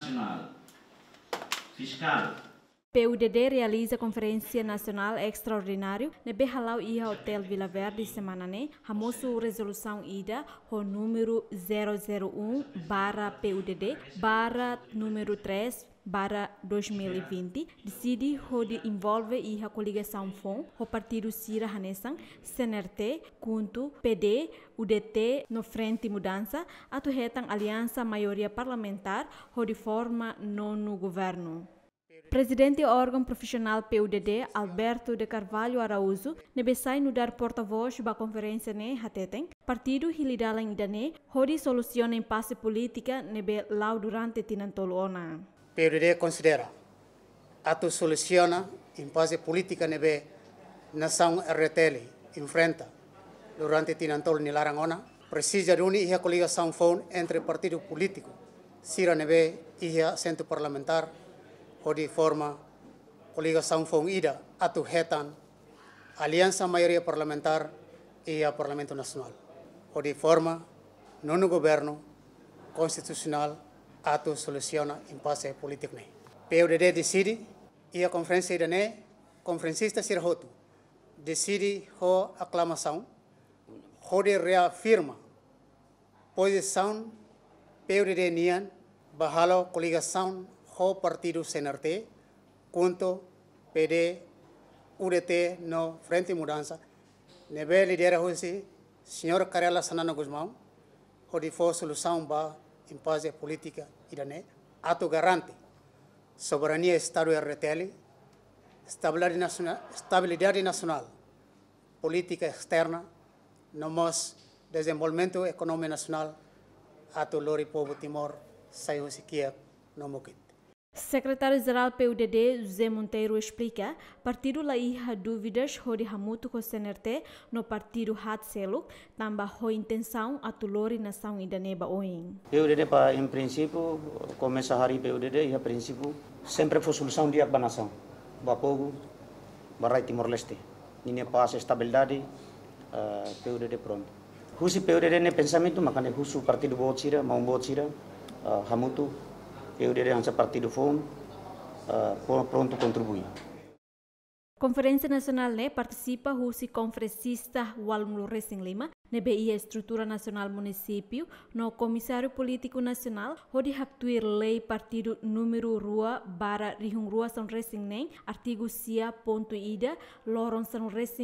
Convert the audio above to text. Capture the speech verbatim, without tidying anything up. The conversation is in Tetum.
Nasionál Fiskál. P U D D realiza konferénsia nasionál estraordináriu ne'ebé hala'o iha Hotel Vila Verde semana ne'e, hamosu rezolusaun ida ho númeru zero zero um barra P U D D barra númeru três barra dois mil e vinte, deside hodi envolve iha koligasaun foun ho partidu sira hanesan C N R T, KHUNTO, P D, U D T no Frente Mudança, atu hetan aliansa maioria parlamentár hodi forma nonu governu. Prezidente órgaun profisionál P U D D, Alberto de Carvalho Araújo, ne'ebé sai nu'udar portavós ba konferénsia ne'e hateten, partidu hili dalan ida-ne'e hodi solusiona impase polítika ne'ebé la'o durante tinan tolu ona. P U D D konsidera atu solusiona impase polítika ne'ebé nasaun R D T L enfrenta durante tinan tolu nia laran ona, presiza duni iha koligasaun foun entre partidu polítiku sira ne'ebé iha asentu parlamentár hodi forma koligasaun foun ida atu hetan aliansa maioria parlamentár iha Parlamentu Nasionál hodi forma nonu governu konstitusionál atu solusiona impase polítiku ne'e. P U D D deside iha konferénsia ida-ne'e, konferensista sira hotu deside ho aklamasaun hodi reafirma pozisaun P U D D nian ba halo koligasaun ho partidu C N R T, KHUNTO, P D, U D T no Frente Mudança, ne'ebé lidera husi señór Kay Rala Xanana Gusmão, hodi fó solusaun ba impase polítika ida-ne'e, atu garante soberania Estadu R D T L, estabilidade nasiona-, estabilidade nasionál, polítika esterna, no mós dezenvolvimentu ekonomia nasionál, atu lori povu Timor sai husi kiak no mukit. Sekretáriu-Jerál P U D D, José Monteiro, esplika, partidu la iha dúvidas hodi hamutuk ho C N R T no partidu haat seluk, tanba ho intensaun atu lori nasaun ida-ne'e ba oin. P U D D ba, em princípio, komesa harii P U D D iha princípio, sempre fó solusaun di'ak ba nasaun, ba povu, ba rai Timor-Leste. Ninia pás, estabilidade, eh, P U D D prontu. Husi P U D D nia pensamentu, maka ne'e husu partidu boot sira, maun boot sira, eh, hamutuk, P U D D hanesan partidu foun, eh, pro-, prontu kontribui. Konferénsia nasionál ne'e partisipa husi konferensista ualunulu resin lima, ne'ebé iha estrutura nasionál munisípiu, no Komisáriu Polítiku Nasionál, hodi haktuir lei partidu númeru rua barra rihun rua sanulu resin neen, artigu sia pontu ida, loron sanulu resin